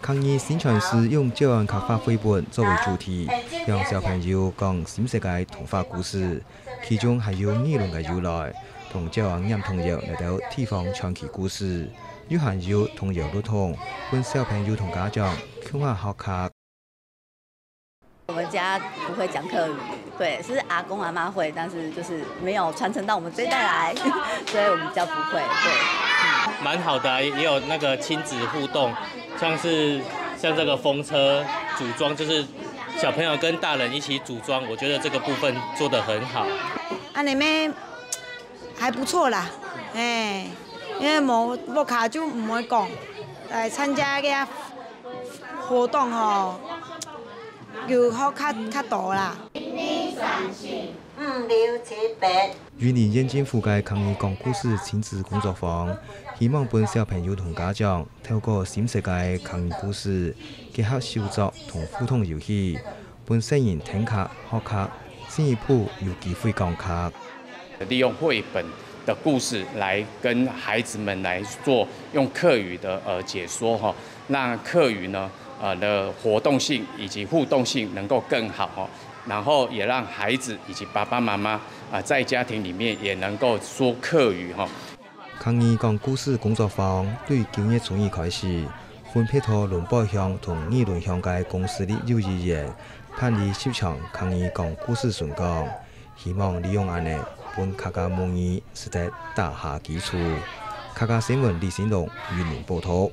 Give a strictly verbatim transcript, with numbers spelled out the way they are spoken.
客語宣傳是用詔安客話繪本作為主題，向小朋友講心適个童話故事。其中還有語言个由來，同詔安念童謠來到地方傳奇故事，又還有童謠樂童，分小朋友同家長共下學客。 我们家不会讲客语，对，是阿公阿妈会，但是就是没有传承到我们这一代来，所以我们比较不会。对，蛮好的啊，也有那个亲子互动，像是像这个风车组装，就是小朋友跟大人一起组装，我觉得这个部分做得很好。安尼咩还不错啦，哎，因为无屋下就毋会讲，来参加个活动吼，有好较较多啦。五六七八。云林县政府个客语讲故事亲子工作坊，希望分小朋友同家长透过心适个客语故事，结合手作同互动游戏，分细人听客、学客，进一步有机会讲客。利用绘本的故事来跟孩子们来做用客语的呃解说哈，让客语呢呃的活动性以及互动性能够更好哈，然后也让孩子以及爸爸妈妈啊在家庭里面也能够说客语哈。客语讲故事工作坊对九月初二开始，分别在龙背乡同二林乡个公私立幼稚园办理十场客语讲故事演讲。 希望利用恁呢，分客家母語實在打下基礎。客家新聞李新龍，雲林報導。